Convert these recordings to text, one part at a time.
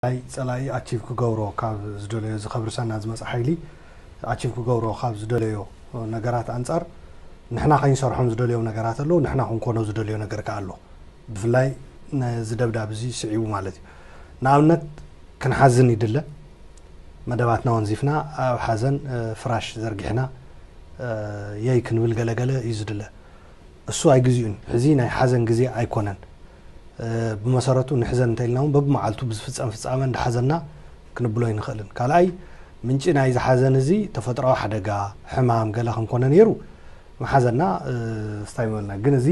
ናይ ጸላኢ ኣቺቭ ክገብሮ ካብ ዝደለዮ፣ እዚ ከብርሰና ዝመጽእ ሓይሊ ኣቺቭ ክገብሮ ካብ ዝደለዮ ነገራት ኣንጻር፣ ንሕና ከይንሰርሖም ዝደለዮም ነገራት ኣለዉ፣ ንሕና ክንኮኖ ዝደለዮ ነገር ከኣ ኣሎ። ብፍላይ ነዚ ደብዳብ እዚ ስዒቡ ማለት እዩ። ንኣብነት ክንሓዝን ይድለ፣ መደባትና ወንዚፍና ኣብ ሓዘን ፍራሽ ዘርጊሕና የይ ክንብል ገለገለ እዩ ዝድለ። እሱ ኣይግዚኡን። ሕዚ ናይ ሓዘን ግዜ ኣይኮነን። ብመሰረቱ ንሕዘን እንተኢልና እውን በብመዓልቱ ብዝፍጸም ፍጻመ እንዳሓዘና ክንብሎ ኣይንኽእልን። ካልኣይ፣ ምንጪ ናይዚ ሓዘን እዚ ተፈጥሮዊ ሓደጋ፣ ሕማም ገለ ከምኮነ ነይሩ ምሓዘና ስታይ መበልና። ግን እዚ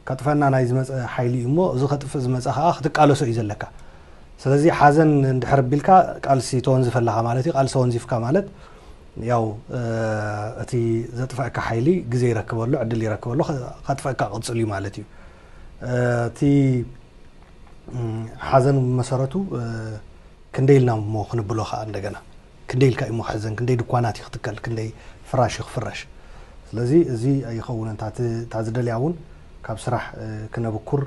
ከጥፈና ናይ ዝመፀ ሓይሊ እዩ እሞ፣ እዚ ከጥፍእ ዝመፀ ከዓ ክትቃለሶ እዩ ዘለካ። ስለዚ ሓዘን እንድሕር ቢልካ ቃልሲ ተወንዝፈ ኣለኻ ማለት እዩ። ቃልሲ ወንዚፍካ ማለት ያው እቲ ዘጥፈእካ ሓይሊ ግዜ ይረክበሉ፣ ዕድል ይረክበሉ፣ ከጥፈእካ ቅፅል እዩ ማለት እዩ። እቲ ሓዘን ብመሰረቱ ክንደይ ኢልና እሞ ክንብሎ ከዓ እንደገና ክንደይ ኢልካ እዩ እሞ ክሕዘን፣ ክንደይ ድኳናት እዩ ክትከል፣ ክንደይ ፍራሽ እዩ ክፍረሽ። ስለዚ እዚ ኣይኸውንን። እታ ዝደልያ እውን ካብ ስራሕ ክነብኩር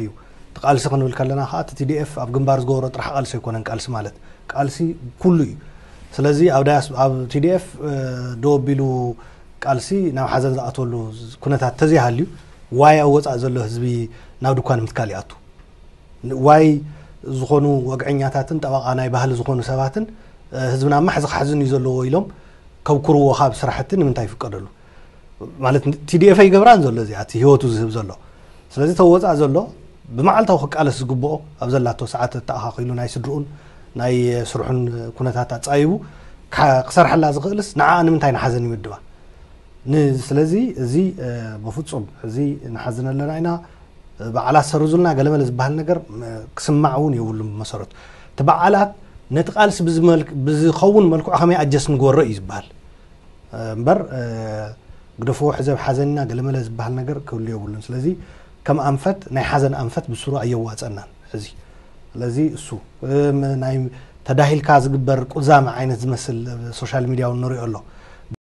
እዩ። እቲ ቃልሲ ክንብል ከለና ከዓ እቲ ቲዲኤፍ ኣብ ግንባር ዝገበሮ ጥራሕ ቃልሲ ኣይኮነን። ቃልሲ ማለት ቃልሲ ኩሉ እዩ። ስለዚ ኣብ ዳያስ ኣብ ቲዲኤፍ ደው ኣቢሉ ቃልሲ ናብ ሓዘን ዝኣተወሉ ኩነታት ተዘይሃልዩ፣ ዋይ ኣብ ወፃእ ዘሎ ህዝቢ ናብ ድኳን ምትካል ይኣቱ። ዋይ ዝኾኑ ወግዐኛታትን ጠበቓ ናይ ባህሊ ዝኾኑ ሰባትን ህዝብና ማሕ ዝሓዝን እዩ ዘለዎ ኢሎም ከብኩርዎ ካብ ስራሕቲ ንምንታይ ይፍቀደሉ? ማለት ቲዲኤፍ ኣይገብራን ዘሎ እዚኣ እቲ ህይወቱ ዝህብ ዘሎ። ስለዚ ተወፃእ ዘሎ ብመዓልታዊ ክቃለስ ዝግብኦ ኣብ ዘላቶ ሰዓት ተኣኻኺሉ ናይ ስድርኡን ናይ ስርሑን ኩነታት ኣፃይቡ ክሰርሐላ ዝኽእልስ ንዓ ንምንታይ ንሓዘን ይምድባ? ስለዚ እዚ በፍፁም እዚ ንሓዝን ኣለና ኢና፣ በዓላት ሰሩዙልና ገለመለ ዝበሃል ነገር ክስማዕ እውን የብሉን። ብመሰረቱ እቲ በዓላት ነቲ ቃልሲ ብዝኸውን መልክዑ ከመይ ኣጀስ ንግበሮ እዩ ዝበሃል እምበር ግደፍዎ ሕዘብ ሓዘንና ገለመለ ዝበሃል ነገር ክህሉ የብሉን። ስለዚ ከም ኣንፈት ናይ ሓዘን ኣንፈት ብስሩ ኣየዋፀናን ሕዚ። ስለዚ እሱ ናይ ተዳሂልካ ዝግበር ቁዛመ ዓይነት ዝመስል ሶሻል ሚድያ እውን ንሪኦ ኣሎ።